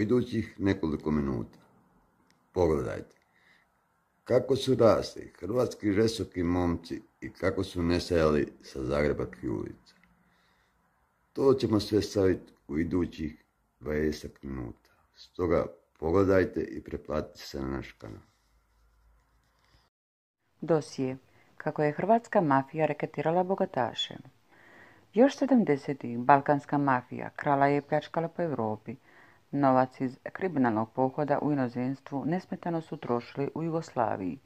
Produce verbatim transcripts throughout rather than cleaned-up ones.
idućih nekoliko minuta. Pogledajte kako su rasli hrvatski žestoki momci i kako su nestajali sa zagrebačkih ulica. To ćemo sve staviti u idućih dvadeset minuta. Stoga pogledajte i pretplatite se na naš kanal. Dosije. Kako je hrvatska mafija reketirala bogataše. Još sedamdesetih balkanska mafija krala je i pljačkala po Europi. Novac iz kriminalnog pohoda u inozemstvu nesmetano su trošili u Jugoslaviji.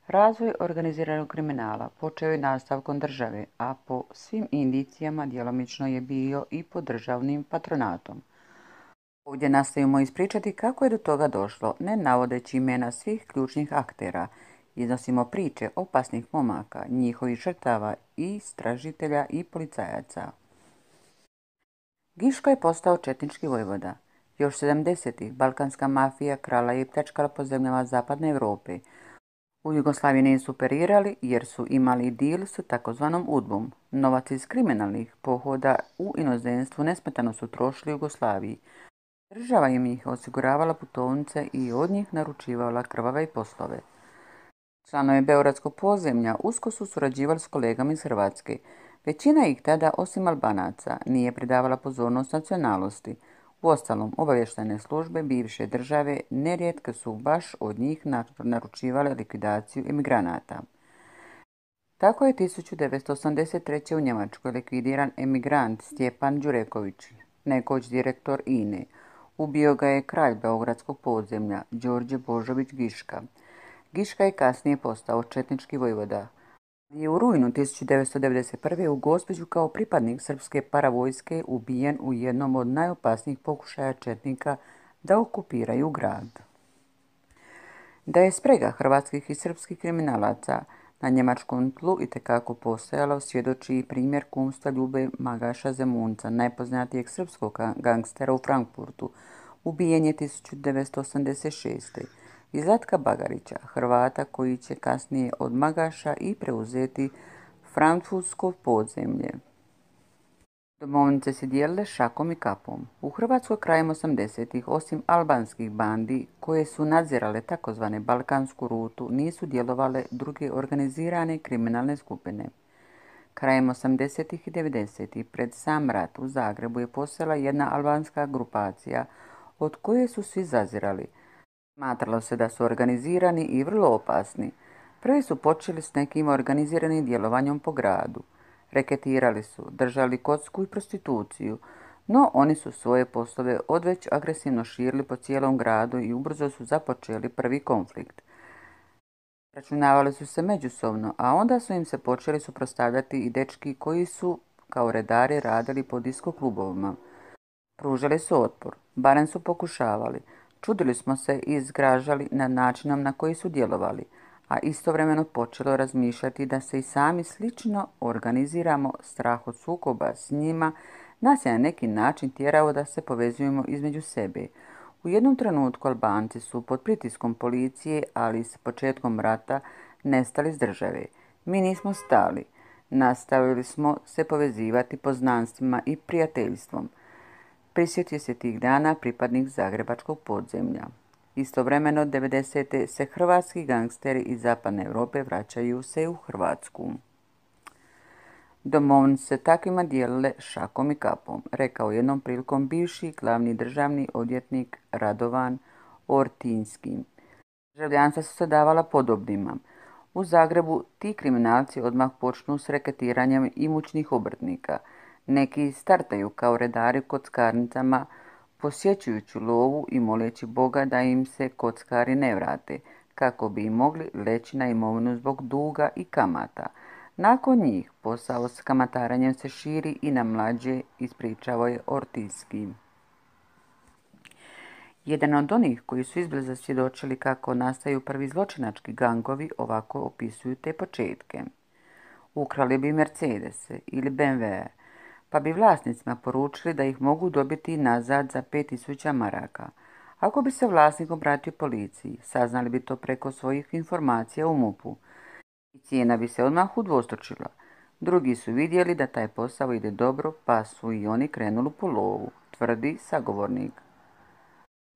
Razvoj organiziranog kriminala počeo je nastavkom države, a po svim indicijama djelomično je bio i pod državnim patronatom. Ovdje nastavimo ispričati kako je do toga došlo, ne navodeći imena svih ključnih aktera. Iznosimo priče opasnih momaka, njihovih žrtava, istražitelja i policajaca. Giško je postao četnički vojvoda. Još sedamdesetih balkanska mafija krala je i pljačkala po zemljama zapadne Europe. U Jugoslaviji nisu operirali jer su imali deal s takozvanom udbom. Novac iz kriminalnih pohoda u inozemstvu nesmetano su trošili u Jugoslaviji. Država im ih osiguravala putovnice i od njih naručivala krvave poslove. Članovi beogradskog podzemlja usko su surađivali s kolegama iz Hrvatske. Većina ih tada, osim Albanaca, nije pridavala pozornost nacionalnosti. Uostalom, obavještajne službe bivše države nerijetko su baš od njih naručivale likvidaciju emigranata. Tako je tisuću devetsto osamdeset treće. u Njemačkoj likvidiran emigrant Stjepan Đureković, nekoć direktor I N E. Ubio ga je kralj beogradskog podzemlja, Đorđe Božović Giška. Giška je kasnije postao četnički vojvoda. Je u rujnu tisuću devetsto devedeset prve. u Gospiću kao pripadnik srpske paravojske ubijen u jednom od najopasnijih pokušaja četnika da okupiraju grad. Da je sprega hrvatskih i srpskih kriminalaca na njemačkom tlu itekako postojala, svjedoči i primjer kumstva Ljube Magaša Zemunca, najpoznatijeg srpskog gangstera u Frankfurtu. Ubijen je tisuću devetsto osamdeset šeste. i Zlatka Bagarića, Hrvata koji će kasnije od Magaša i preuzeti frankfurtsko podzemlje. Domovnice se dijelile šakom i kapom. U Hrvatskoj krajem osamdesetih, osim albanskih bandi koje su nadzirale takozvane balkansku rutu, nisu djelovale druge organizirane kriminalne skupine. Krajem osamdesetih i devedesetih pred sam rat u Zagrebu je postojala jedna albanska grupacija od koje su svi zazirali. Smatralo se da su organizirani i vrlo opasni. Prvi su počeli s nekim organiziranim djelovanjem po gradu. Reketirali su, držali kocku i prostituciju, no oni su svoje poslove odveć agresivno širili po cijelom gradu i ubrzo su započeli prvi konflikt. Računavali su se međusobno, a onda su im se počeli suprotstavljati i dečki koji su kao redari radili po disko klubovima. Pružali su otpor, barem su pokušavali. Čudili smo se i zgražali nad načinom na koji su djelovali, a istovremeno počelo razmišljati da se i sami slično organiziramo. Strah od sukoba s njima nas je na neki način tjerao da se povezujemo između sebe. U jednom trenutku Albanci su pod pritiskom policije, ali s početkom rata, nestali s države. Mi nismo stali. Nastavili smo se povezivati poznanstvima i prijateljstvom. Prisjetio se tih dana pripadnik zagrebačkog podzemlja. Istovremeno, devedesete se hrvatski gangsteri iz zapadne Europe vraćaju se u Hrvatsku. Domovnice se takvima dijelile šakom i kapom, rekao jednom prilikom bivši glavni državni odvjetnik Radovan Ortinski. Državljanstva su se davala podobnima. U Zagrebu ti kriminalci odmah počnu s reketiranjem imućnih obrtnika. Neki startaju kao redari u kockarnicama, posjećujući lovu i moleći Boga da im se kockari ne vrate, kako bi im mogli leći na imovinu zbog duga i kamata. Nakon njih posao s kamataranjem se širi i na mlađe, ispričavao je Ortinski. Jedan od onih koji su izbliza svjedočili kako nastaju prvi zločinački gangovi ovako opisuju te početke. Ukrali bi Mercedese ili B M W, pa bi vlasnicima poručili da ih mogu dobiti nazad za pet tisuća maraka. Ako bi se vlasnik obratio policiji, saznali bi to preko svojih informacija u MUP-u i cijena bi se odmah udvostručila. Drugi su vidjeli da taj posao ide dobro, pa su i oni krenuli po lovu, tvrdi sagovornik.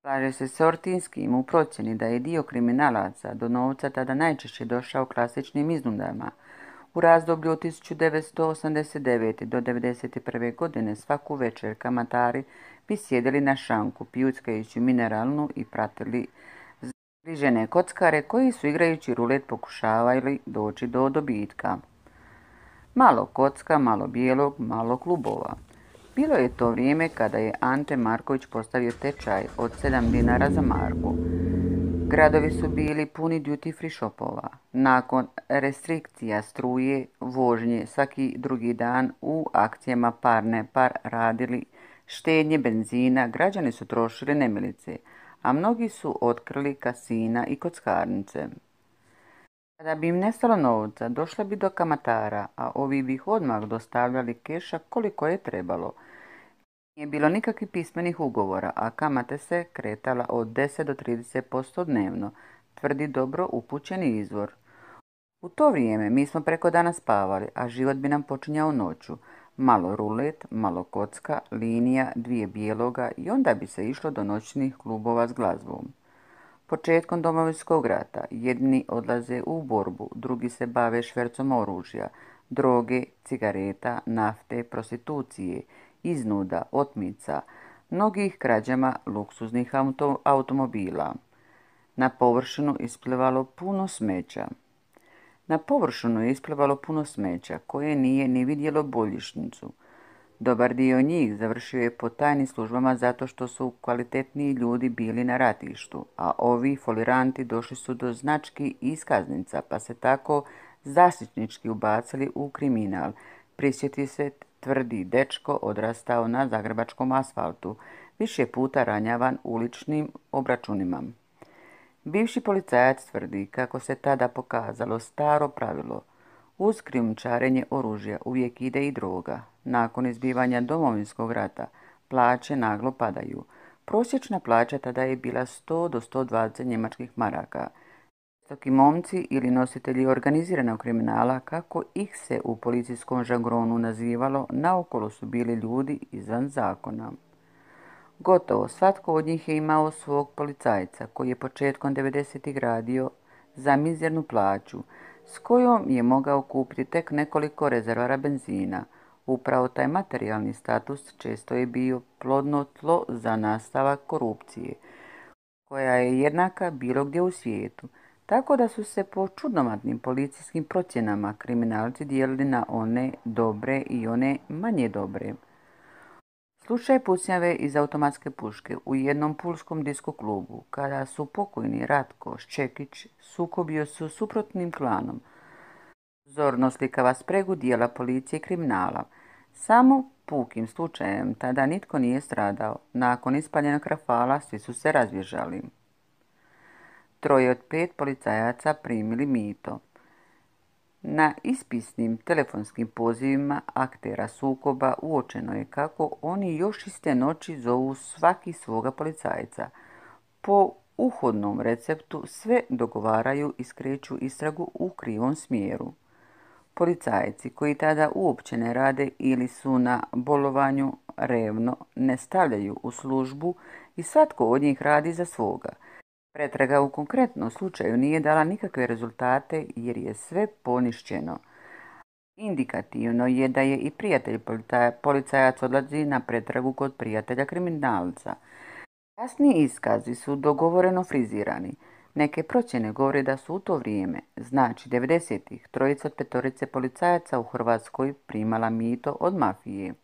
Slaže se s Ortinskim u procjeni da je dio kriminalaca do novca tada najčešće došao klasičnim iznudama. U razdoblju od tisuću devetsto osamdeset devete. do devedeset prve. godine svaku večer kamatari bi sjedili na šanku pijuckajući mineralnu i pratili zgrižene kockare koji su igrajući rulet pokušavali doći do dobitka. Malo kocka, malo bijelog, malo klubova. Bilo je to vrijeme kada je Ante Marković postavio tečaj od sedam dinara za marku. Gradovi su bili puni duty free shopova. Nakon restrikcija struje, vožnje svaki drugi dan u akcijama par ne par radili štednje benzina, građani su trošili nemilice, a mnogi su otkrili kasina i kockarnice. Kada bi im nestalo novca, došla bi do kamatara, a ovi bi ih odmah dostavljali keša koliko je trebalo. Nije bilo nikakvih pismenih ugovora, a kamate se kretala od deset do trideset posto dnevno, tvrdi dobro upućeni izvor. U to vrijeme mi smo preko dana spavali, a život bi nam počinjao noću. Malo rulet, malo kocka, linija, dvije bijeloga i onda bi se išlo do noćnih klubova s glazbom. Početkom Domovinskog rata jedni odlaze u borbu, drugi se bave švercom oružja, droge, cigareta, nafte, prostitucije, iznuda, otmica, mnogih krađama luksuznih auto, automobila. Na površinu isplivalo puno smeća. Na površinu je isplivalo puno smeća koje nije ni vidjelo boljišnicu. Dobar dio njih završio je po tajnim službama zato što su kvalitetniji ljudi bili na ratištu, a ovi foliranti došli su do znački i iskaznica, pa se tako zaštitnički ubacili u kriminal. Prisjeti se, tvrdi dečko odrastao na zagrebačkom asfaltu, više puta ranjavan uličnim obračunima. Bivši policajac tvrdi kako se tada pokazalo staro pravilo. Uz krijumčarenje oružja uvijek ide i droga. Nakon izbivanja Domovinskog rata plaće naglo padaju. Prosječna plaća tada je bila sto do sto dvadeset njemačkih maraka. Visoki momci ili nositelji organiziranog kriminala, kako ih se u policijskom žargonu nazivalo, naokolo su bili ljudi izvan zakona. Gotovo svatko od njih je imao svog policajca koji je početkom devedesetih radio za mizernu plaću, s kojom je mogao kupiti tek nekoliko rezervara benzina. Upravo taj materijalni status često je bio plodno tlo za nastavak korupcije, koja je jednaka bilo gdje u svijetu, tako da su se po čudnovatnim policijskim procjenama kriminalci dijelili na one dobre i one manje dobre. Slučaj pucnjave iz automatske puške u jednom pulskom disko klubu, kada su pokojni Ratko Ščekić sukobio se s suprotnim klanom, zorno slikava spregu dijela policije i kriminala. Samo pukim slučajem tada nitko nije stradao. Nakon ispaljenog rafala svi su se razbježali. Troje od pet policajaca primili mito. Na ispisnim telefonskim pozivima aktera sukoba uočeno je kako oni još iste noći zovu svaki svoga policajca. Po uhodnom receptu sve dogovaraju i skreću istragu u krivom smjeru. Policajci koji tada uopće ne rade ili su na bolovanju revno ne stavljaju u službu i svatko od njih radi za svoga. Pretraga u konkretnom slučaju nije dala nikakve rezultate jer je sve ponišćeno. Indikativno je da je i prijatelj policajac odlazi na pretragu kod prijatelja kriminalca. Kasniji iskazi su dogovoreno frizirani. Neke procjene govore da su u to vrijeme, znači devedesetih, trojica od petorice policajaca u Hrvatskoj primala mito od mafije.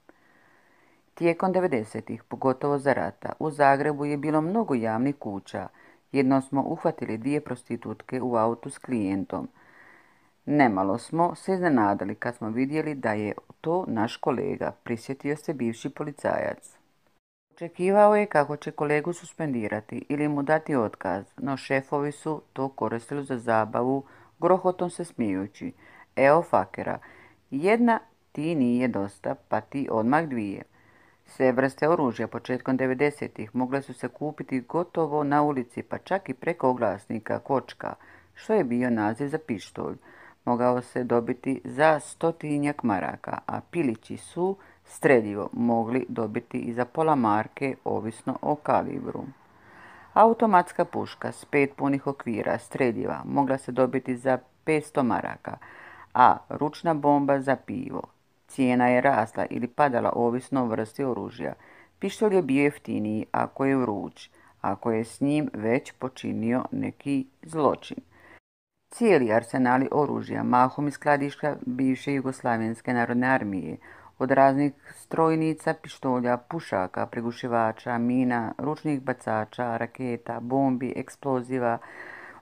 Tijekom devedesetih, pogotovo za rata, u Zagrebu je bilo mnogo javnih kuća. Jednom smo uhvatili dvije prostitutke u autu s klijentom. Nemalo smo se iznenadili kad smo vidjeli da je to naš kolega, prisjetio se bivši policajac. Očekivao je kako će kolegu suspendirati ili mu dati otkaz, no šefovi su to koristili za zabavu, grohotom se smijući. Evo fakera, jedna ti nije dosta, pa ti odmah dvije. Sve vrste oružja početkom devedesetih mogle su se kupiti gotovo na ulici, pa čak i preko oglasnika kočka, što je bio naziv za pištolj. Mogao se dobiti za stotinjak maraka, a pilići su streljivo mogli dobiti i za pola marke, ovisno o kalibru. Automatska puška s pet punih okvira streljiva mogla se dobiti za petsto maraka, a ručna bomba za pivo. Cijena je rasla ili padala ovisno o vrsti oružja. Pištolj je bio jeftiniji ako je vruć, ako je s njim već počinio neki zločin. Cijeli arsenali oružja, mahom iz skladišta bivše Jugoslavenske narodne armije, od raznih strojnica, pištolja, pušaka, prigušivača, mina, ručnih bacača, raketa, bombi, eksploziva,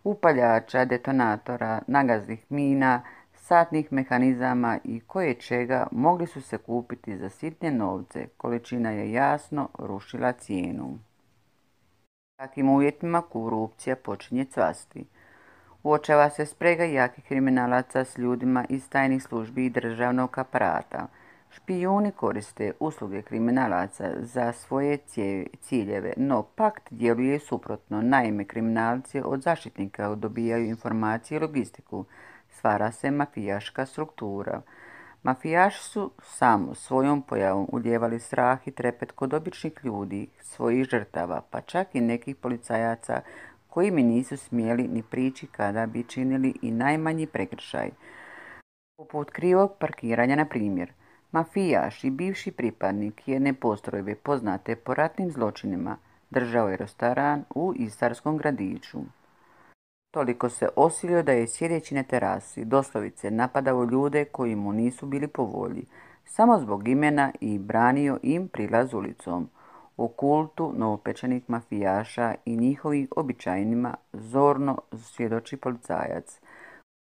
upaljača, detonatora, nagaznih mina, satnih mehanizama i koje čega mogli su se kupiti za sitne novce. Količina je jasno rušila cijenu. U takvim uvjetima korupcija počinje cvasti. Uočava se sprega jakih kriminalaca s ljudima iz tajnih službi i državnog aparata. Špijuni koriste usluge kriminalaca za svoje ciljeve, no pakt djeluje suprotno. Naime, kriminalci od zaštitnika dobijaju informacije i logistiku. Stvara se mafijaška struktura. Mafijaši su samo svojom pojavom ulijevali strah i trepet kod običnih ljudi, svojih žrtava, pa čak i nekih policajaca koji mi nisu smjeli ni prići kada bi činili i najmanji prekršaj. Poput krivog parkiranja, na primjer. Mafijaš i bivši pripadnik jedne postrojbe poznate po ratnim zločinima držao je restoran u istarskom gradiću. Toliko se osilio da je sjedeći na terasi doslovice napadao ljude koji mu nisu bili po volji, samo zbog imena i branio im prilaz ulicom. O kultu novopečenih mafijaša i njihovim običajnima zorno svjedoči policajac,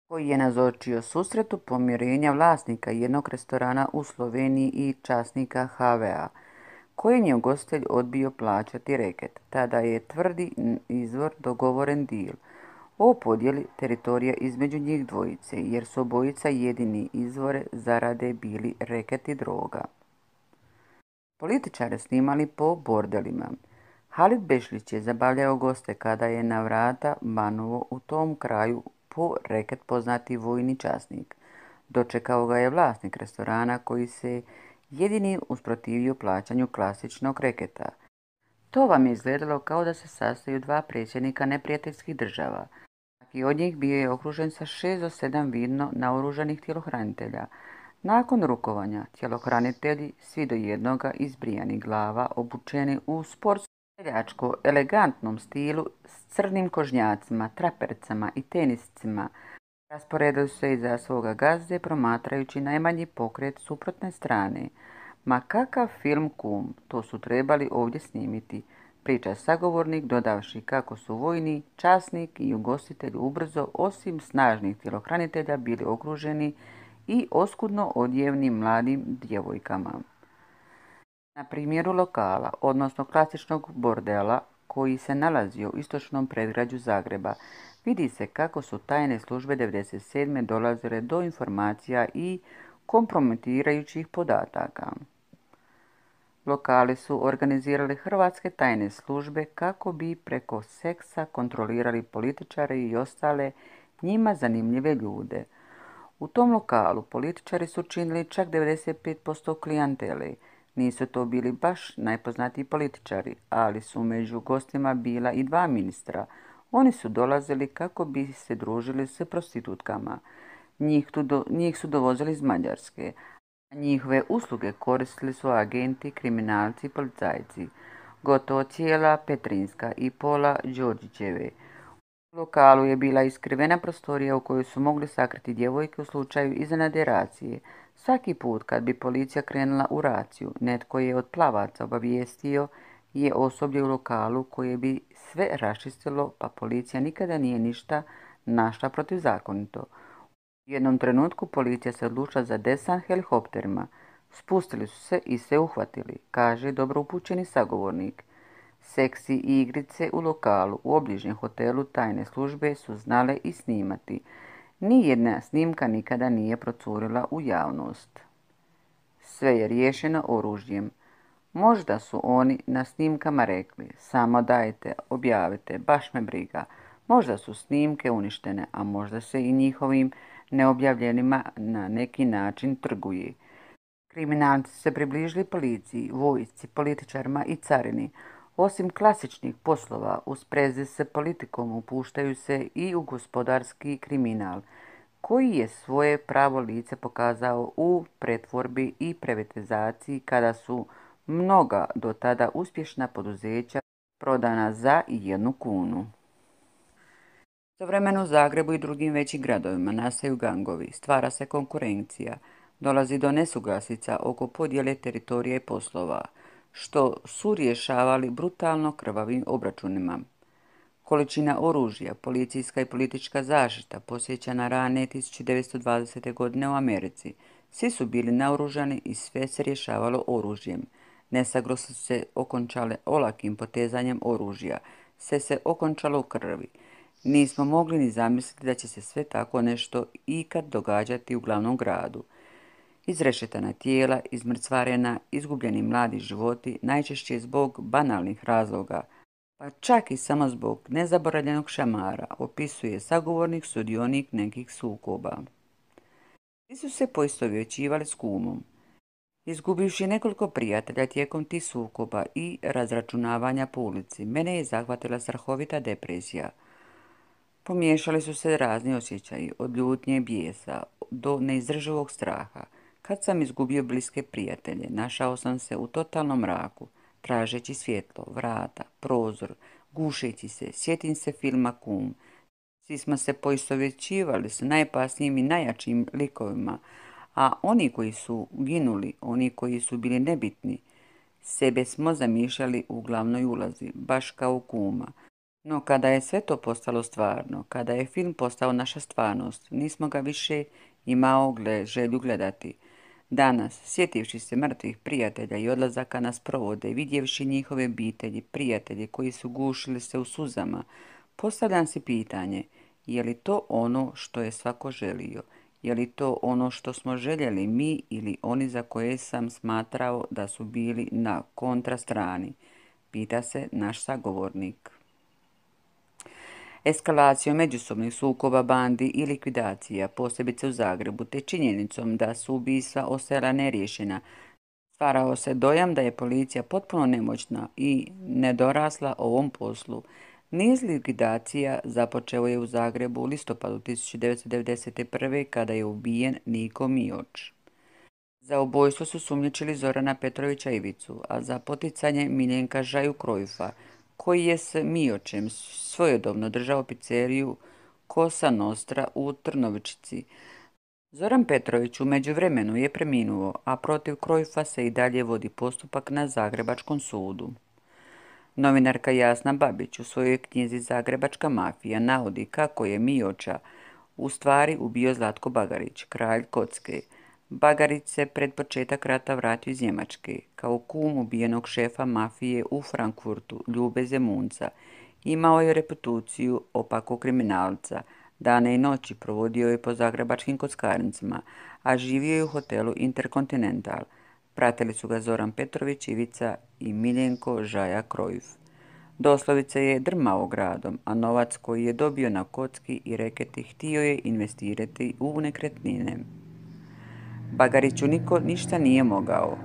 koji je nazočio susretu pomirenja vlasnika jednog restorana u Sloveniji i časnika ha ve a, kojem je ugostitelj odbio plaćati reket. Tada je tvrdi izvor dogovoren dil o podjeli teritorija između njih dvojice, jer su obojica jedini izvore zarade bili reket i droga. Političare snimali po bordelima. Halid Bešlić je zabavljao goste kada je na vrata Banovo u tom kraju po reket poznati vojni časnik. Dočekao ga je vlasnik restorana koji se jedini usprotivio plaćanju klasičnog reketa. To vam je izgledalo kao da se sastaju dva predsjednika neprijateljskih država. Svaki od njih bio je okružen sa šest do sedam vidno naoružanih tjelohranitelja. Nakon rukovanja, tjelohranitelji, svi do jednoga izbrijanih glava, obučeni u sportskom seljačko elegantnom stilu s crnim kožnjacima, trapercama i teniscima, rasporedili su se iza svoga gazde promatrajući najmanji pokret suprotne strane. Ma kakav film kum, to su trebali ovdje snimiti, priča sagovornik dodavši kako su vojni, časnik i ugostitelj ubrzo, osim snažnih tjelohranitelja, bili okruženi i oskudno odjevnim mladim djevojkama. Na primjeru lokala, odnosno klasičnog bordela koji se nalazio u istočnom predgrađu Zagreba, vidi se kako su tajne službe devedeset sedme dolazile do informacija i kompromitirajućih podataka. Lokali su organizirali hrvatske tajne službe kako bi preko seksa kontrolirali političare i ostale njima zanimljive ljude. U tom lokalu političari su činili čak devedeset pet posto klijentele. Nisu to bili baš najpoznatiji političari, ali su među gostima bila i dva ministra. Oni su dolazili kako bi se družili s prostitutkama. Njih, do, njih su dovozili iz Mađarske, a njihove usluge koristili su agenti, kriminalci i policajci. Gotovo cijela Petrinjska i pola Đorđićeve. U lokalu je bila iskrivena prostorija u kojoj su mogli sakriti djevojke u slučaju iznenadne racije. Svaki put kad bi policija krenula u raciju, netko je od plavaca obavijestio je osoblje u lokalu koje bi sve raščistilo, pa policija nikada nije ništa našla protivzakonito. U jednom trenutku policija se odlučila za desant helikopterima. Spustili su se i sve uhvatili, kaže dobro upućeni sagovornik. Seksi i igrice u lokalu u obližnjem hotelu tajne službe su znale i snimati. Nijedna snimka nikada nije procurila u javnost. Sve je riješeno oružjem. Možda su oni na snimkama rekli, samo dajte, objavite, baš me briga. Možda su snimke uništene, a možda se i njihovim neobjavljenima na neki način trguje. Kriminalci su se približili policiji, vojsci, političarima i carini. Osim klasičnih poslova, u sprezi s politikom upuštaju se i u gospodarski kriminal, koji je svoje pravo lice pokazao u pretvorbi i privatizaciji kada su mnoga do tada uspješna poduzeća prodana za jednu kunu. Istovremeno u Zagrebu i drugim većim gradovima nastaju gangovi, stvara se konkurencija, dolazi do nesuglasica oko podjele teritorija i poslova, što su rješavali brutalno krvavim obračunima. Količina oružja, policijska i politička zaštita posjeća na rane tisuće devetsto dvadesete. godine u Americi. Svi su bili naoružani i sve se rješavalo oružjem. Nesaglo su se okončale olakim potezanjem oružja, sve se okončalo u krvi. Nismo mogli ni zamisliti da će se sve tako nešto ikad događati u glavnom gradu. Izrešetana tijela, izmrcvarena, izgubljeni mladi životi, najčešće zbog banalnih razloga, pa čak i samo zbog nezaboravljenog šamara, opisuje sagovornik sudionik nekih sukoba. Svi su se poistovjećivali s kumom. Izgubivši nekoliko prijatelja tijekom tih sukoba i razračunavanja po ulici, mene je zahvatila strahovita depresija. Pomiješali su se razni osjećaji, od ljutnje i bijesa do neizdrživog straha. Kad sam izgubio bliske prijatelje, našao sam se u totalnom mraku, tražeći svjetlo, vrata, prozor, gušeći se, sjetim se filma Kum. Svi smo se poistovjećivali s najopasnijim i najjačim likovima, a oni koji su ginuli, oni koji su bili nebitni, sebe smo zamišljali u glavnoj ulazi, baš kao Kuma. No kada je sve to postalo stvarno, kada je film postao naša stvarnost, nismo ga više imao gle, želju gledati. Danas, sjetivši se mrtvih prijatelja i odlazaka na sprovode, vidjevši njihove obitelji, prijatelji koji su gušili se u suzama, postavljam si pitanje, je li to ono što je svako želio? Je li to ono što smo željeli mi ili oni za koje sam smatrao da su bili na kontrastrani? Pita se naš sagovornik. Eskalacijom međusobnih sukoba, bandi i likvidacija, posebice u Zagrebu, te činjenicom da su ubistva ostajala neriješena, stvarao se dojam da je policija potpuno nemoćna i nedorasla ovom poslu. Niz likvidacija započeo je u Zagrebu u listopadu tisuće devetsto devedeset prve. kada je ubijen Niko Mioć. Za ubojstvo su sumnjičili Zorana Petrovića Ivicu, a za poticanje Miljenka Žaju Krojfa, koji je s Miočem svojedobno držao pizzeriju Cosa Nostra u Trnovčici. Zoran Petrović u međuvremenu je preminuo, a protiv Krojfa se i dalje vodi postupak na Zagrebačkom sudu. Novinarka Jasna Babić u svojoj knjizi Zagrebačka mafija navodi kako je Mioča u stvari ubio Zlatko Bagarić, kralj kocke. Bagarić se pred početak rata vratio iz Njemačke, kao kum ubijenog šefa mafije u Frankfurtu, Ljube Zemunca. Imao je reputaciju opakog kriminalca. Dane i noći provodio je po zagrebačkim kockarnicama, a živio je u hotelu Intercontinental. Pratili su ga Zoran Petrović Ivica i Miljenko Žaja Krojf. Doslovice je drmao gradom, a novac koji je dobio na kocki i reketi htio je investirati u nekretnine. Bagariću niko ništa nije mogao.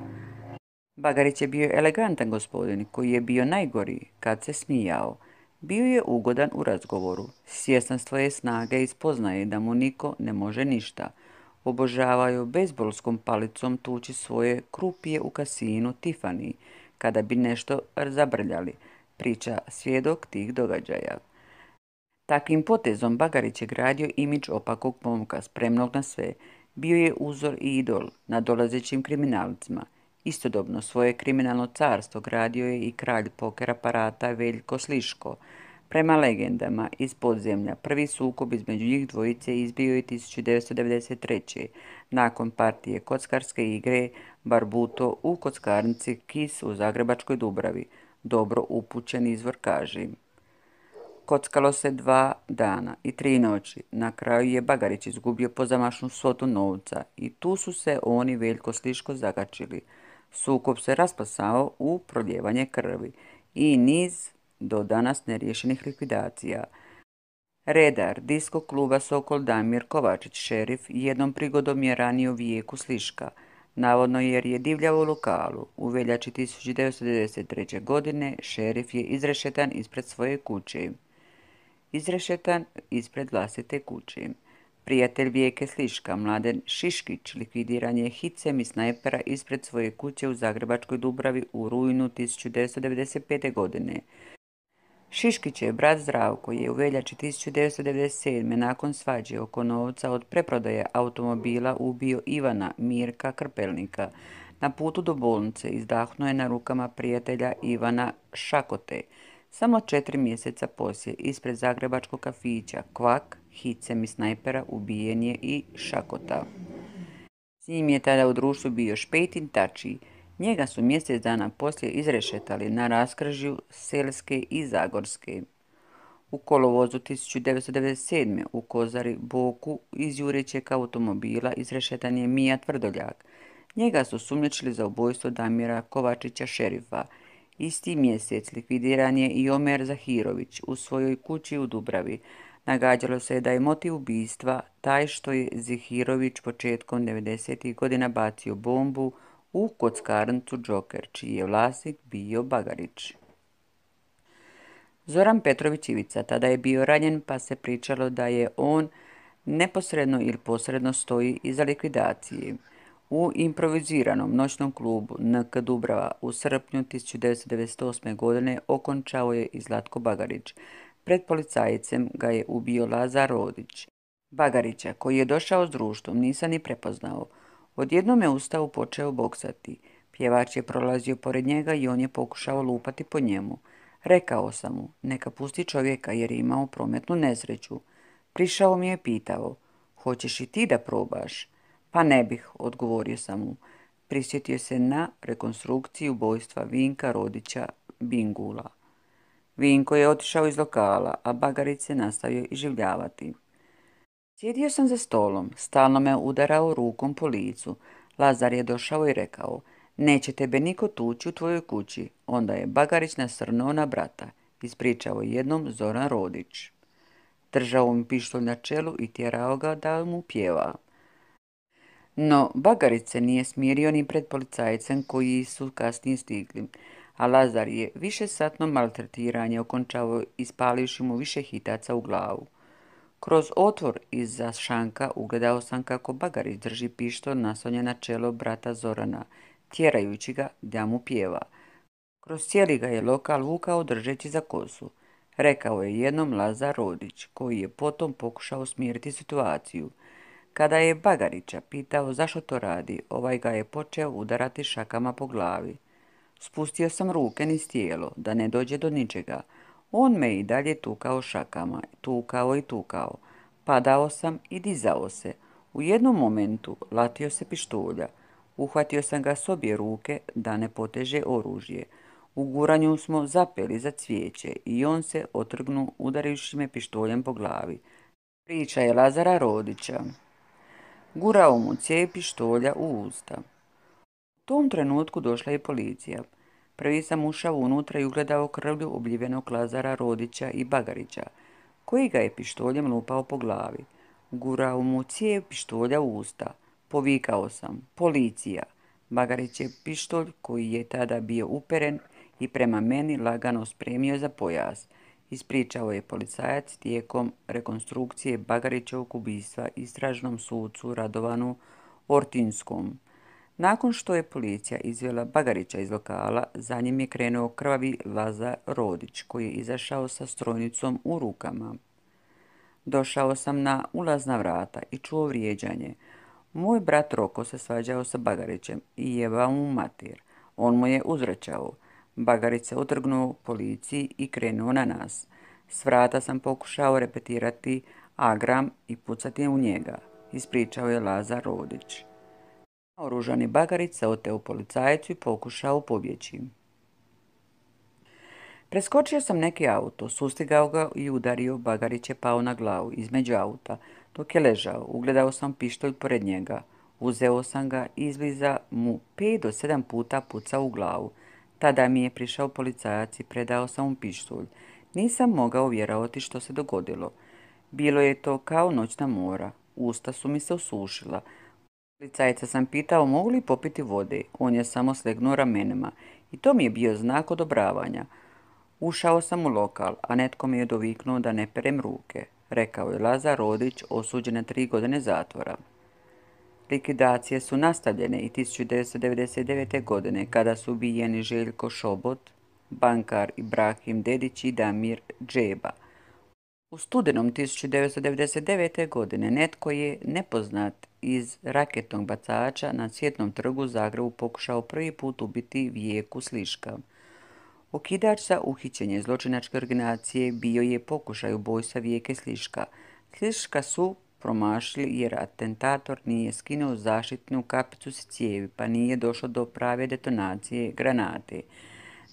Bagarić je bio elegantan gospodin koji je bio najgori kad se smijao. Bio je ugodan u razgovoru, svjestan svoje snage i spoznaje da mu niko ne može ništa. Obožavao je bejzbolskom palicom tući svoje krupije u kasinu Tiffany kada bi nešto zabrljali, priča svjedok tih događaja. Takvim potezom Bagarić je gradio imidž opakog momka, spremnog na sve. Bio je uzor i idol nadolazećim kriminalcima. Istodobno svoje kriminalno carstvo gradio je i kralj poker aparata Veljko Sliško. Prema legendama iz podzemlja, prvi sukob između njih dvojice izbio je tisuće devetsto devedeset treće. nakon partije kockarske igre Barbuto u kockarnici Kis u Zagrebačkoj Dubravi. Dobro upućen izvor kaže: kockalo se dva dana i tri noći. Na kraju je Bagarić izgubio pozamašnu svotu novca i tu su se oni Veljko Sliško zagačili. Sukob se raspasao u proljevanje krvi i niz do danas neriješenih likvidacija. Redar disko kluba Sokol Damir Kovačić, šerif, jednom prigodom je ranio Vijeku Sliška. navodno jer je divljao u lokalu. U veljači tisuću devetsto devedeset treće. godine šerif je izrešetan ispred svoje kuće. Izrešetan ispred vlastite kuće. Prijatelj Vijeke Sliška, Mladen Šiškić, likvidiran je hicem i snajpera ispred svoje kuće u Zagrebačkoj Dubravi u rujnu tisuću devetsto devedeset pete. godine. Šiškićev brat Zdravko je u veljači tisuću devetsto devedeset sedme. nakon svađe oko novca od preprodaje automobila ubio Ivana Mirka Krpelnika. Na putu do bolnice izdahnuo je na rukama prijatelja Ivana Šakote. Samo četiri mjeseca poslije ispred zagrebačkog kafića Kvak, hicem i snajpera ubijen je i Šakota. S njim je tada u društvu bio Špetin Tači. Njega su mjesec dana poslije izrešetali na raskržju Selske i Zagorske. U kolovozu tisuću devetsto devedeset sedme. u Kozari Boku iz jurećeg automobila izrešetan je Mija Tvrdoljak. Njega su sumnjičili za ubojstvo Damira Kovačića šerifa. Isti mjesec likvidiran je i Omer Zahirović u svojoj kući u Dubravi. Nagađalo se da je motiv ubistva taj što je Zahirović početkom devedesetih godina bacio bombu u kockarnicu Joker, čiji je vlasnik bio Bagarić. Zoran Petrović Ivica tada je bio ranjen, pa se pričalo da je on neposredno ili posredno stoji iza likvidacije. U improviziranom noćnom klubu N K Dubrava u srpnju tisuću devetsto devedeset osme. godine okončao je i Zlatko Bagarić. Pred policajcem ga je ubio Lazar Rodić. Bagarića, koji je došao s društvom, nisam ni prepoznao. Odjednom je ustao počeo boksati. Pjevač je prolazio pored njega i on je pokušao lupati po njemu. Rekao sam mu, neka pusti čovjeka jer je imao prometnu nesreću. Prišao mi je pitao, hoćeš i ti da probaš? Pa ne bih, odgovorio sam mu. Prisjetio se na rekonstrukciju ubojstva Vinka Rodića Bingula. Vinko je otišao iz lokala, a Bagarić se nastavio iživljavati. Sjedio sam za stolom, stalno me udarao rukom po licu. Lazar je došao i rekao, neće tebe niko tući u tvojoj kući. Onda je Bagarić nasrnuo na brata. Ispričao jednom Zoran Rodić. Držao mi pištolj na čelu i tjerao ga da mu pjeva. No, Bagarić se nije smirio ni pred policajcem koji su kasnije stigli, a Lazar je višesatno maltretiranje okončao ispalivši mu više hitaca u glavu. Kroz otvor iza šanka ugledao sam kako Bagarić drži pištolj naslonjen na čelo brata Zorana, tjerajući ga da mu pjeva. Kroz cijeli ga je lokal vukao držeći za kosu. Rekao je jednom Lazar Rodić, koji je potom pokušao smiriti situaciju. Kada je Bagarića pitao zašto to radi, ovaj ga je počeo udarati šakama po glavi. Spustio sam ruke niz tijelo, da ne dođe do ničega. On me i dalje tukao šakama, tukao i tukao. Padao sam i dizao se. U jednom momentu latio se pištolja. Uhvatio sam ga s obje ruke da ne poteže oružje. U guranju smo zapeli za cvijeće i on se otrgnuo udarajući me pištoljem po glavi. Priča je Lazara Rodića. Gurao mu cijev pištolja u usta. U tom trenutku došla je policija. Prvi sam ušao unutra i ugledao krvlju obljivenog Lazara Rodića i Bagarića, koji ga je pištoljem lupao po glavi. Gurao mu cijev pištolja u usta. Povikao sam, policija. Bagarić je pištolj, koji je tada bio uperen i prema meni lagano spremio za pojas. Ispričao je policajac tijekom rekonstrukcije Bagarićevog ubistva istražnom sucu Radovanu Ortinskom. Nakon što je policija izvela Bagarića iz lokala, za njim je krenuo krvavi Lazar Rodić, koji je izašao sa strojnicom u rukama. Došao sam na ulazna vrata i čuo vrijeđanje. Moj brat Roko se svađao sa Bagarićem i jebao mu mater. On mu je uzvraćao. Bagarić se otrgnuo policiji i krenuo na nas. S vrata sam pokušao repetirati agram i pucati u njega, ispričao je Lazar Rodić. Oružani Bagarić se oteo policajcu i pokušao pobjeći. Preskočio sam neki auto, sustigao ga i udario. Bagarić je pao na glavu između auta. Dok je ležao, ugledao sam pištolj pored njega. Uzeo sam ga i izbliza mu pet do sedam puta pucao u glavu. Tada mi je prišao policajac i predao sam mu pištolj. Nisam mogao vjerovati što se dogodilo. Bilo je to kao noćna mora. Usta su mi se osušila. Policajca sam pitao mogu li popiti vode, on je samo slegnuo ramenima i to mi je bio znak odobravanja. Ušao sam u lokal, a netko mi je doviknuo da ne perem ruke, rekao je Lazar Rodić, osuđen na tri godine zatvora. Likvidacije su nastavljene i tisuću devetsto devedeset devete. godine kada su ubijeni Željko Šobot, bankar Ibrahim Dedić i Damir Džeba. U studenom tisuću devetsto devedeset devete. godine netko je nepoznat iz raketnog bacača na Cvjetnom trgu u Zagrebu pokušao prvi put ubiti Vijeku Sliška. Okidač za uhićenje zločinačke organizacije bio je pokušaj ubojstva Vijeke Sliška. Sliška su promašili jer atentator nije skinuo zaštitnu kapicu s cijevi, pa nije došlo do prave detonacije granate.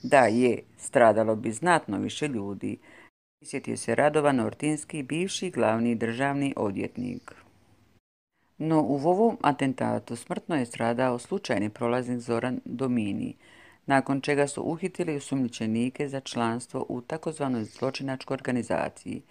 Da je, stradalo bi znatno više ljudi. Prisjetio se Radovan Ortinski, bivši glavni državni odvjetnik. No u ovom atentatu smrtno je stradao slučajni prolaznik Zoran Domini, nakon čega su uhitili osumnjičenike za članstvo u takozvanoj zločinačkoj organizaciji.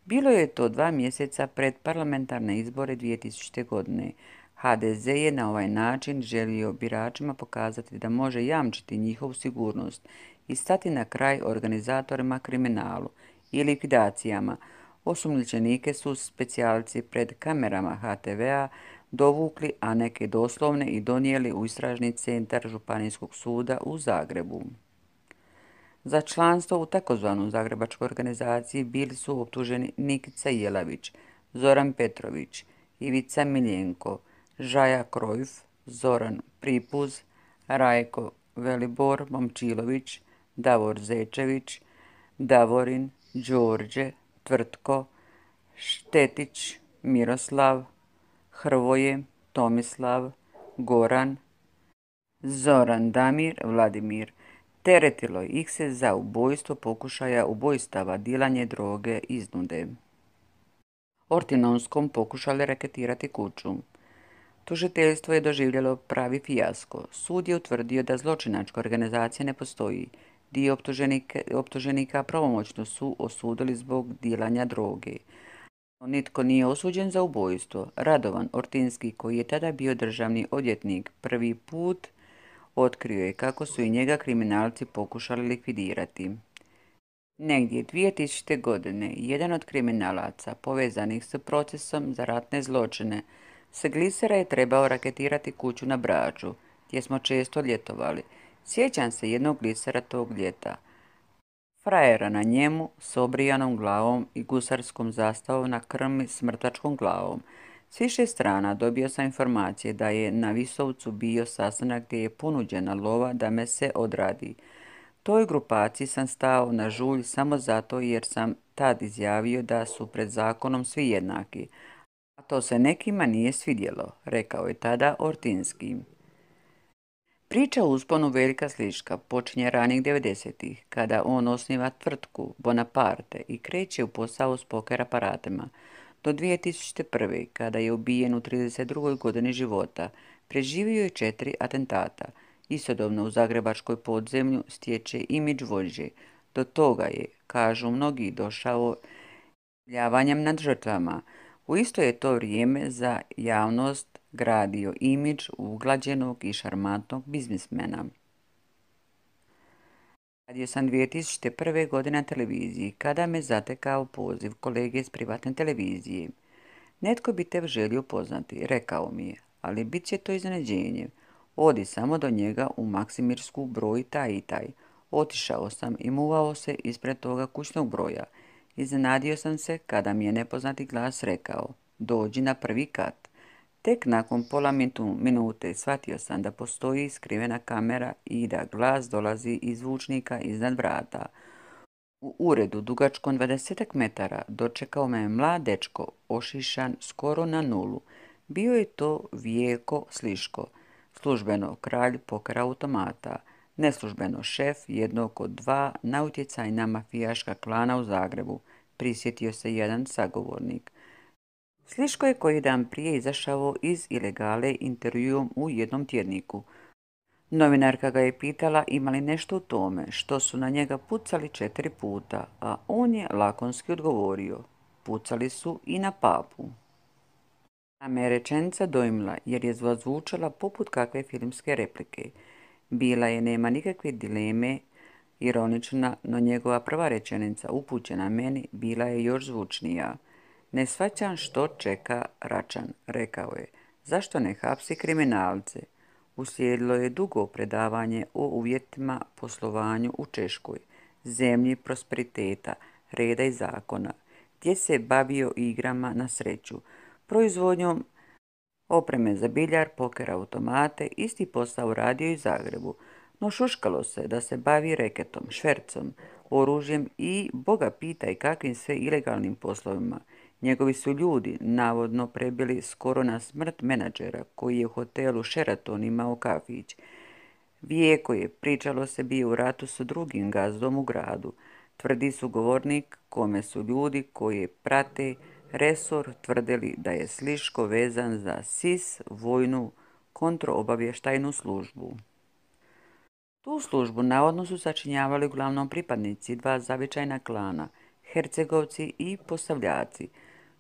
Bilo je to dva mjeseca pred parlamentarne izbore dvije tisućite. godine. ha de ze je na ovaj način želio biračima pokazati da može jamčiti njihovu sigurnost i stati na kraj organizatorima kriminalu i likvidacijama. Osumnjičenike su specijalci pred kamerama ha te vea dovukli, a neke doslovne i donijeli u istražni centar Županijskog suda u Zagrebu. Za članstvo u takozvanu zagrebačkoj organizaciji bili su optuženi Nikica Jelavić, Zoran Petrović, Ivica Miljenko, Žaja Krojf, Zoran Pripuz, Rajko Velibor Momčilović, Davor Zečević, Davorin, Đorđe, Tvrtko, Štetić, Miroslav, Hrvoje, Tomislav, Goran, Zoran Damir, Vladimir. Teretilo ih se za ubojstvo pokušaja ubojstava, dilanje droge, iznude. Ortinonskom pokušali raketirati kuću. Tužiteljstvo je doživjelo pravi fijasko. Sud je utvrdio da zločinačka organizacija ne postoji. Dio optuženika, optuženika pravomoćno su osudili zbog dilanja droge. Nitko nije osuđen za ubojstvo. Radovan Ortinski, koji je tada bio državni odvjetnik, prvi put otkrio je kako su i njega kriminalci pokušali likvidirati. Negdje dvije tisućite. godine jedan od kriminalaca povezanih s procesom za ratne zločine s glisera je trebao raketirati kuću na Braču, gdje smo često ljetovali. Sjećam se jednog glisera tog ljeta. Frajera na njemu s obrijanom glavom i gusarskom zastavom na krmi s mrtvačkom glavom. S više strana dobio sam informacije da je na Visovcu bio sastanak gdje je ponuđena lova da me se odradi. Toj grupaciji sam stao na žulj samo zato jer sam tad izjavio da su pred zakonom svi jednaki. A to se nekima nije svidjelo, rekao je tada Ortinski. Priča o usponu Veljka Sliška počinje ranih devedesetih, kada on osniva tvrtku Bonaparte i kreće u posao s poker aparatima. Do dvije tisućite prve. kada je ubijen u trideset drugoj godini života, preživio je četiri atentata. Istodobno u zagrebačkoj podzemlju stječe imidž vođe. Do toga je, kažu mnogi, došao ljavanjem nad žrtvama. U isto je to vrijeme za javnost gradio imidž uglađenog i šarmantnog biznismena. Radio sam dvije tisućite prve. godine na televiziji, kada me zatekao poziv kolege s privatne televizije. Netko bi te želio poznati, rekao mi je, ali bit će to iznenađenje. Odi samo do njega u Maksimirsku broj taj i taj. Otišao sam i muvao se ispred toga kućnog broja. Iznenadio sam se kada mi je nepoznati glas rekao, dođi na prvi kat. Tek nakon pola minute shvatio sam da postoji skrivena kamera i da glas dolazi iz zvučnika iznad vrata. U uredu dugačkom dvadesetak metara dočekao me mlad dečko, ošišan skoro na nulu. Bio je to Vijeko Sliško, službeno kralj poker automata, neslužbeno šef jednog od dva nautjecajna mafijaška klana u Zagrebu, prisjetio se jedan sagovornik. Sliško je koji dan prije izašao iz ilegale intervjuom u jednom tjedniku. Novinarka ga je pitala ima li nešto u tome što su na njega pucali četiri puta, a on je lakonski odgovorio, pucali su i na papu. Me je rečenica dojmila jer je zvučala poput kakve filmske replike. Bila je, nema nikakve dileme, ironična, no njegova prva rečenica upućena meni bila je još zvučnija. Ne shvaćam što čeka Račan, rekao je. Zašto ne hapsi kriminalce? Uslijedilo je dugo predavanje o uvjetima poslovanju u Češkoj, zemlji prosperiteta, reda i zakona, gdje se bavio igrama na sreću, proizvodnjom opreme za biljar, poker automate, isti posao radio i u Zagrebu, no šuškalo se da se bavi reketom, švercom, oružjem i boga pitaj kakvim sve ilegalnim poslovima. Njegovi su ljudi navodno prebili skoro na smrt menadžera koji je u hotelu Sheraton imao kafić. Vijeko je, pričalo se, bio u ratu s drugim gazdom u gradu. Tvrdi su govornik kome su ljudi koji prate resor tvrdili da je Sliško vezan za S I S, vojnu kontroobavještajnu službu. Tu službu navodno su sačinjavali uglavnom pripadnici dva zavičajna klana, Hercegovci i Posavljaci.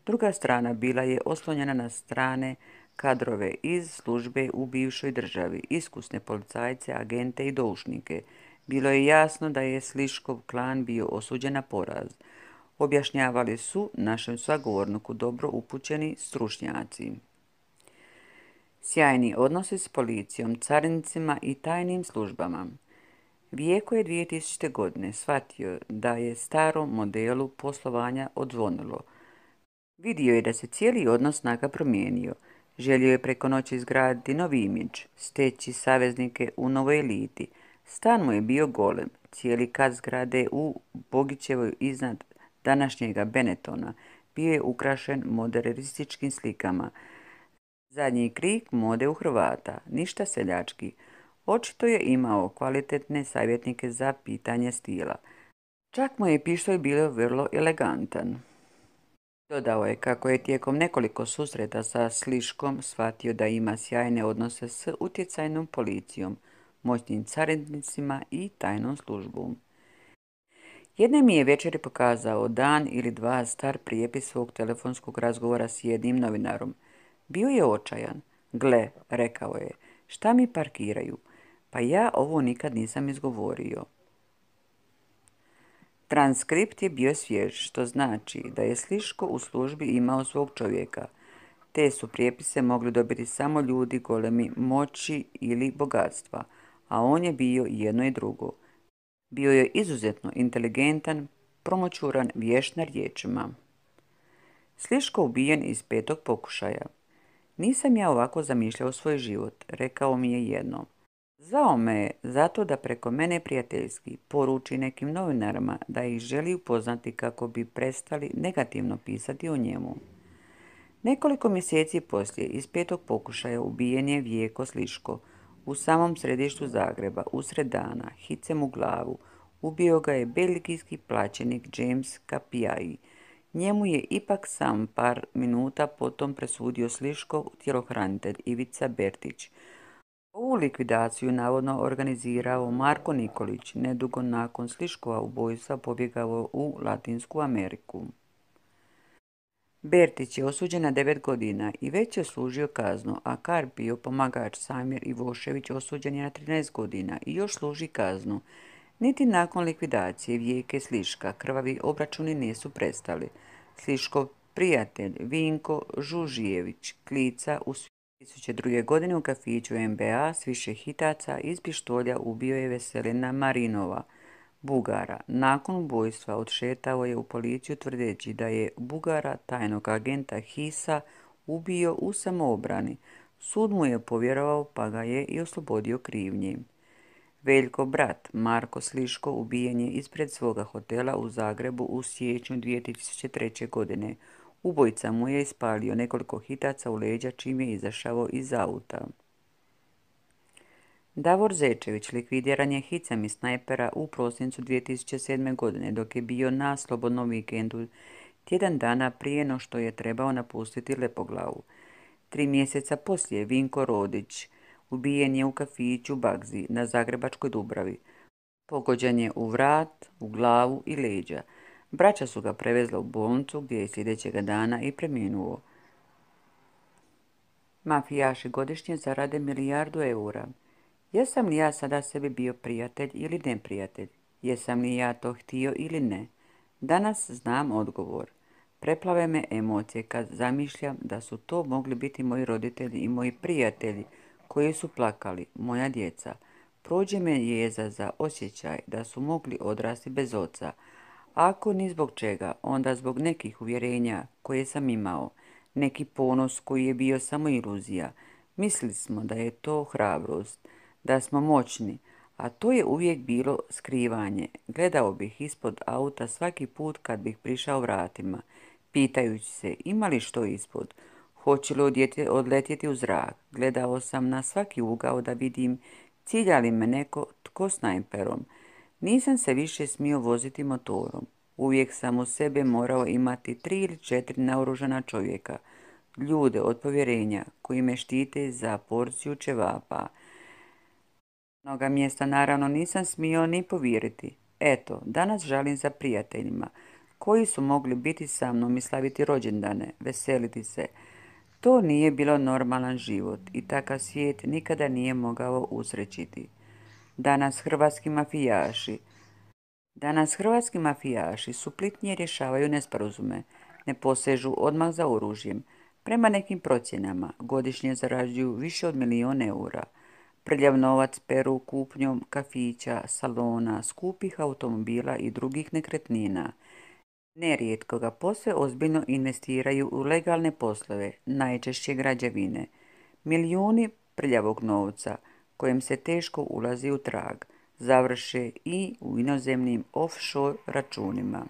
Druga strana bila je oslonjena na strane kadrove iz službe u bivšoj državi, iskusne policajce, agente i doušnike. Bilo je jasno da je Sliškov klan bio osuđen na poraz. Objašnjavali su našem sagovorniku dobro upućeni stručnjaci. Sjajni odnosi s policijom, carinicima i tajnim službama. Vijeko je dvije tisućite. godine shvatio da je starom modelu poslovanja odzvonilo. Vidio je da se cijeli odnos snaga promijenio. Želio je preko noći izgraditi novi imidž, steći saveznike u novoj eliti. Stan mu je bio golem, cijeli kat zgrade u Bogićevoj iznad današnjega Benetona bio je ukrašen modernističkim slikama. Zadnji krik mode u Hrvata, ništa seljački. Očito je imao kvalitetne savjetnike za pitanje stila. Čak mu je pištolj bio vrlo elegantan. Dodao je kako je tijekom nekoliko susreta sa Sliškom shvatio da ima sjajne odnose s utjecajnom policijom, moćnim carinicima i tajnom službom. Jedne mi je večeri pokazao dan ili dva star prijepis svog telefonskog razgovora s jednim novinarom. Bio je očajan. Gle, rekao je, šta mi parkiraju? Pa ja ovo nikad nisam izgovorio. Transkript je bio svjež, što znači da je Sliško u službi imao svog čovjeka. Te su prijepise mogli dobiti samo ljudi golemi moći ili bogatstva, a on je bio jedno i drugo. Bio je izuzetno inteligentan, promoćuran, vješt na riječima. Sliško ubijen iz petog pokušaja. Nisam ja ovako zamišljao svoj život, rekao mi je jednom. Zvao me je zato da preko mene prijateljski poruči nekim novinarima da ih želi upoznati kako bi prestali negativno pisati o njemu. Nekoliko mjeseci poslije iz petog pokušaja ubijen je Vijeko Sliško u samom središtu Zagreba, usred dana, hicem u glavu. Ubio ga je belgijski plaćenik James Capiai. Njemu je ipak sam par minuta potom presudio Sliškov tjelohranitelj Ivica Bertić. Ovu likvidaciju navodno organizirao Marko Nikolić, nedugo nakon Sliškova ubojstva pobjegao u Latinsku Ameriku. Bertić je osuđen na devet godina i već je služio kaznu, a Karpio, pomagač Samir Ivošević, osuđen je na trinaest godina i još služi kaznu. Niti nakon likvidacije Vijeke Sliška krvavi obračuni nisu prestali. Sliškov prijatelj Vinko Žužijević Klica u dvije tisuće druge. godine u kafiću M B A s više hitaca iz pištolja ubio je Veselina Marinova, Bugara. Nakon ubojstva odšetao je u policiju tvrdeći da je Bugara, tajnog agenta Hisa, ubio u samoobrani. Sud mu je povjerovao pa ga je i oslobodio krivnje. Veljko brat Marko Sliško ubijen je ispred svoga hotela u Zagrebu u siječnju dvije tisuće treće. godine. Ubojica mu je ispalio nekoliko hitaca u leđa čim je izašao iz auta. Davor Zečević likvidiran je hicem iz snajpera u prosincu dvije tisuće sedme. godine dok je bio na slobodnom vikendu tjedan dana prije no što je trebao napustiti Lepoglavu. Tri mjeseca poslije Vinko Rodić ubijen je u kafiću Bagzi na Zagrebačkoj Dubravi. Pogođen je u vrat, u glavu i leđa. Braća su ga prevezla u bolnicu gdje je sljedećega dana i preminuo. Mafijaši godišnje zarade milijardu eura. Jesam li ja sada sebi bio prijatelj ili neprijatelj? Jesam li ja to htio ili ne? Danas znam odgovor. Preplave me emocije kad zamišljam da su to mogli biti moji roditelji i moji prijatelji koji su plakali, moja djeca. Prođe me jeza za osjećaj da su mogli odrasti bez oca. Ako ni zbog čega, onda zbog nekih uvjerenja koje sam imao. Neki ponos koji je bio samo iluzija. Mislili smo da je to hrabrost, da smo moćni, a to je uvijek bilo skrivanje. Gledao bih ispod auta svaki put kad bih prišao vratima, pitajući se ima li što ispod, hoće li odletjeti u zrak. Gledao sam na svaki ugao da vidim cilja li me neko tko snajperom. Nisam se više smio voziti motorom. Uvijek sam u sebe morao imati tri ili četiri naoružana čovjeka, ljude od povjerenja koji me štite za porciju ćevapa. Mnoga mjesta naravno nisam smio ni povjeriti. Eto, danas žalim za prijateljima koji su mogli biti sa mnom i slaviti rođendane, veseliti se. To nije bilo normalan život i takav svijet nikada nije mogao usrećiti. Danas hrvatski mafijaši Danas hrvatski mafijaši suplitnije rješavaju nesporazume, ne posežu odmah za oružjem. Prema nekim procjenama godišnje zarađuju više od milijun eura. Prljav novac peru kupnjom kafića, salona, skupih automobila i drugih nekretnina. Nerijetko ga posve ozbiljno investiraju u legalne poslove, najčešće građevine. Milijuni prljavog novca, kojem se teško ulazi u trag, završe i u inozemnim offshore računima.